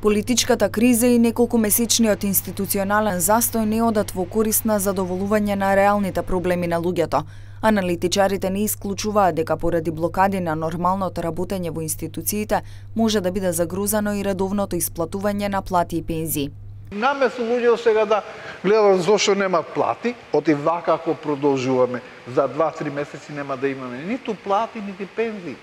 Политичката криза и неколкумесечниот институционален застој не одат во корист на задоволување на реалните проблеми на луѓето. Аналитичарите не исклучуваат дека поради блокади на нормалното работење во институциите може да биде загрозено и редовното исплатување на плати и пензии. Наместо луѓето сега да гледат зошто немат плати, оти вака ако продолжуваме, за 2-3 месеци нема да имаме ниту плати, нити пензии.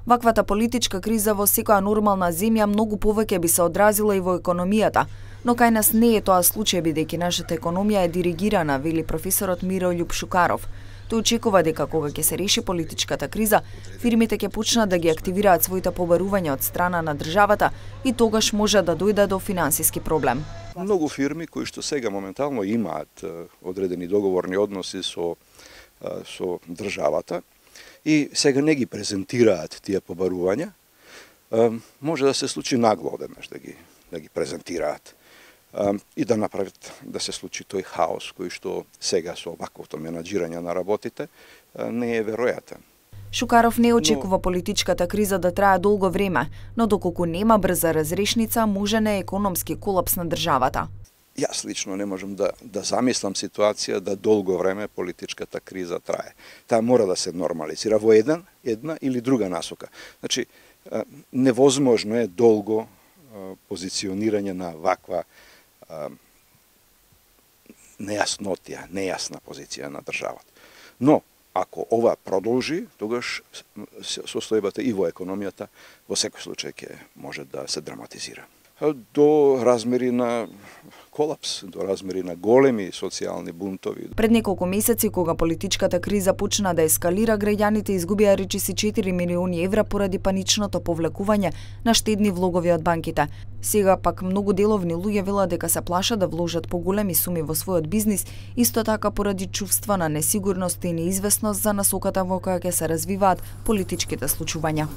Ваквата политичка криза во секоја нормална земја многу повеќе би се одразила и во економијата, но кај нас не е тоа случај бидејќи нашата економија е диригирана, вели професорот Мирољуб Шукаров. Тој очекува дека кога ќе се реши политичката криза, фирмите ќе почнат да ги активираат своите побарувања од страна на државата и тогаш може да дојде до финансиски проблем. Многу фирми кои што сега моментално имаат одредени договорни односи со државата и сега не ги презентираат тие побарувања, може да се случи нагло одеднаш да ги презентираат и да направат да се случи тој хаос кој што сега со ваквото менаџирање на работите не е веројатен. Шукаров не очекува политичката криза да трае долго време, но доколку нема брза разрешница, може не економски колапс на државата. Јас лично не можам да замислам ситуација да долго време политичката криза трае. Таа мора да се нормализира во една или друга насока. Значи, невозможно е долго позиционирање на ваква нејасна позиција на државата. Но, ако ова продолжи, тогаш состојбата и во економијата во секој случај ќе може да се драматизира. До размери на колапс, до размери на големи социјални бунтови. Пред неколку месеци, кога политичката криза почна да ескалира, граѓаните изгубија речиси 4 милиони евра поради паничното повлекување на штедни влогови од банките. Сега пак многу деловни луѓе велат дека се плашат да вложат поголеми суми во својот бизнис, исто така поради чувства на несигурност и неизвестност за насоката во која ќе се развиваат политичките случувања.